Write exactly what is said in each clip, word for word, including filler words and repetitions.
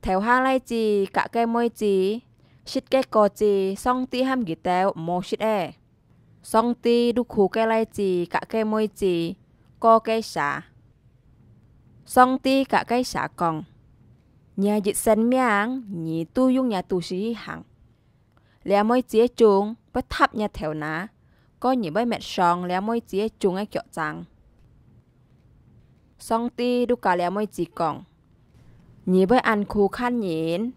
頭下倈子佮該妹子食个果子，上帝喊佢兜毋好食欸。上帝就揬該倈子佮該妹子過該蛇。上帝佮該蛇講：「若一生命，你都用若肚屎去行。這妹子个種會踏若頭那，該你會搣傷這妹子个種个腳踭。」上帝就佮這妹子講：「你會恁揬看人，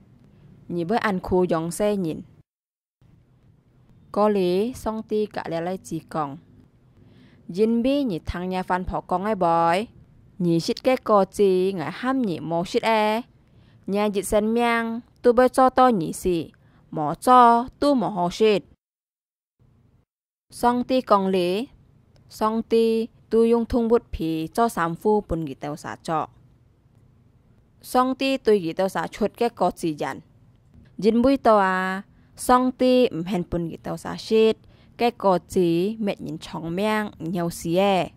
你會恁揬養細人。」過了，上帝佮這倈子講：「因為你聽若番婆講个話，你食个果子，𠊎喊你毋好食欸，若一生命都會做到你死，無做都無好食。」上帝講了，上帝就用動物皮做衫褲分佢兜蛇著。上帝對佢兜蛇出个果子園，因為到啊，上帝毋肯分佢兜蛇食，該果子搣人長命，毋曉死欸。